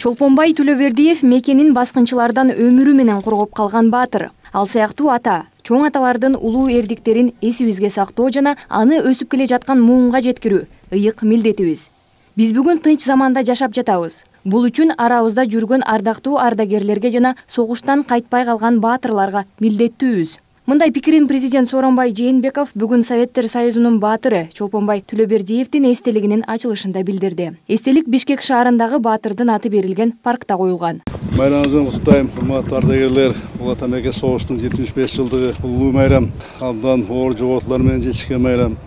Чолпонбай Төлөбердиев мекенин баскынчылардан өмүрү менен коргоп калган баатыр. Ал сыяктуу ата, чоң аталардын улуу эрдиктерин эсибизге сактоо жана аны өсүп келе жаткан муунга жеткирүү ыйык милдетибиз. Биз бүгүн тынч заманда жашап жатабыз. Бул үчүн арабызда жүргөн ардактуу ардагерлерге жана согуштан кайтпай калган баатырларга милдеттүүбүз. Мындай пикирин президент Сооронбай Жээнбеков бүгүн Советтер Союзунун баатыры Чолпонбай Төлөбердиевдин эстелигинин ачылышында билдирди. Эстелик Бишкек шаарындагы баатырдын аты берилген паркта коюлган. Майрамыңызды куттайм, урматтуу ардагерлер. Бул ата мекен согуштун 75 жылдыгы улуу майрам, абдан оор жоготуулар менен жечкен майрам.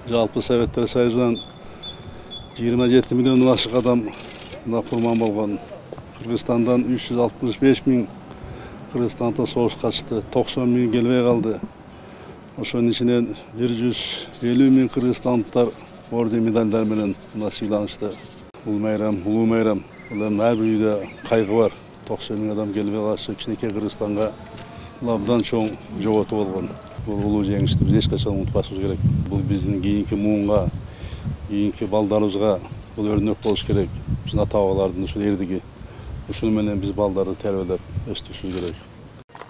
Жалпы Советтер Союзунан 27 миллиондон ашык адам курман болгон. Кыргызстандан 365 миң Кыргызстанда согуш качты, 90 миң келбей калды. Ошонун ичинен 150 миң кыргызстандыктар орден медальдар менен сыйланышты. Бул майрам, улуу майрам. Ар бир үйдө кайгы бар. 90 миң адам келбей калышы кичинекей Кыргызстанга абдан чоң жоготуу болгон. Бул улуу жеңишти биз эч качан унутпашыбыз керек. Бул биздин кийинки муунга, кийинки балдарыбызга бул өрнөк болуш керек. Биздин ата-бабалардын ушул эрдиги. Ушуну менен биз балдарды тербелеп өстүрүшүбүз керек.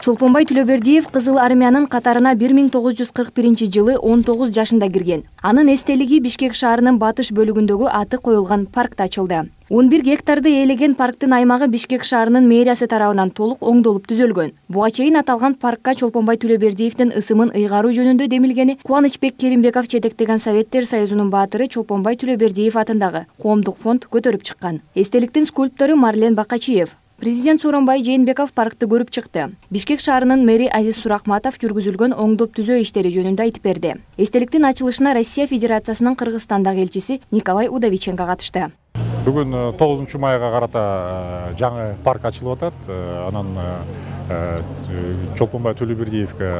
Чолпонбай Төлөбердиев Кызыл армиянын катарына 1941-жылы 19 жашында кирген. Анын эстелиги Бишкек шаарынын батыш бөлүгүндөгү аты коюлган паркта ачылды. 11 гектарды ээлеген парктын аймагы Бишкек шаарынын мэриясы тарабынан толук оңдолуп түзөлгөн. Буга чейин аталган паркка Чолпонбай Төлөбердиевдин ысымын ыйгаруу жөнүндө демилгени Кубанычбек Керимбеков жетектеген Советтер Союзунун баатыры Чолпонбай Төлөбердиев атындагы коомдук фонд көтөрүп чыккан. Эстеликтин скульптору Марлен Бакачиев. Президент Сооронбай Жээнбеков паркты көрүп чыкты. Бишкек шаарынын мэри Азиз Сурахматов жүргүзүлгөн оңдоп түзөө иштери жөнүндө айтып берди. Эстеликтин ачылышына Россия Федерациясынын Кыргызстандагы элчиси Николай Удовиченко катышты. Бүгүн 9 майга карата жаңы парк ачылып атат. Анан Чолпонбай Төлөбердиевге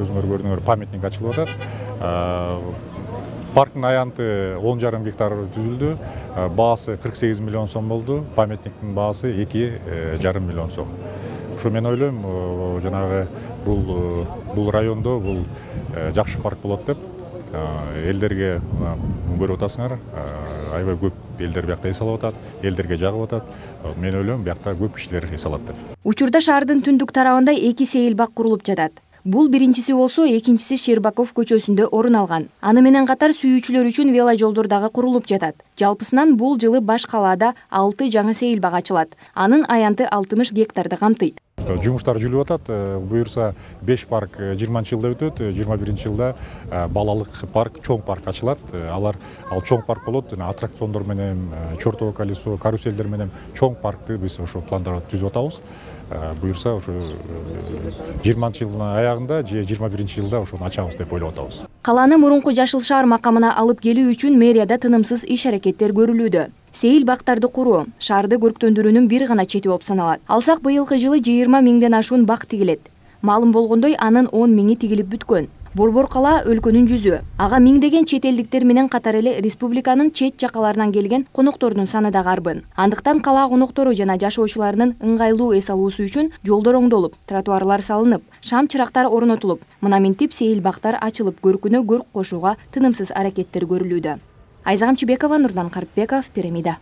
өзүңөр көрдүңөр памятник ачылып атат. Парктын аянты 10,5 гектар түзүлдү. Баасы 48 миллион сом болду. Памятниктин баасы 2,5 миллион сом. Ошо мен ойлойм, жанагы бул райондо бул жакшы парк болот деп элдерге көрүп атасыңар. Аябай көп элдер биякта эс алып атат, элдерге жагып атат. Мен ойлойм, биякта көп кишилер эс алат деп. Учурда шаардын түндүк тарабында 2 сейилбак курулуп жатат. Бул биринчиси болсо, экинчиси Щербаков көчөсүндө орун алган. Аны менен катар сүйүүчүлөр үчүн веложолдор дагы курулуп жатат. Жалпысынан бул жылы баш калаада 6 жаңы сейилбак ачылат. Анын аянты 60 гектарды камтыйт. Жумуштар жүрүп атат. Буюрса 5 парк 20-жылда өтөт, 21-жылда балалык парк, чоң парк ачылат. Ал чоң парк болот. Аттракциондор менен, чертово колесо, каруселдер менен чоң паркты биз ошо пландар түзүп атабыз. Буюрса ошо 20-жылдын аягында же 21-жылда ошону ачабыз деп ойлоп атабыз. Каланы мурунку жашыл шаар макамына алып келүү үчүн мэрияда тынымсыз иш-аракеттер көрүлүүдө. Сейилбактарды куруу шаарды көрктөндүрүүнүн бир гана чети болуп саналат. Алсак быйылкы жылы 20 миңден ашуун бак тигилет. Маалым болгондой, анын 10 миңи тигилип бүткөн. Борбор кала өлкөнүн жүзү. Ага миңдеген чет элдиктер менен катар эле республиканын чет жакаларынан келген коноктордун саны да карбын. Андыктан кала коноктору жана жашоочуларынын ыңгайлуу эс алуусу үчүн жолдор оңдолуп, тротуарлар салынып, шам чырактар орнотулуп, мына минтип сейилбактар ачылып, көркүнө көрк кошууга тынымсыз аракеттер көрүлүүдө. Айза Камчыбекова, Нурдан Карпбеков, Пирамида.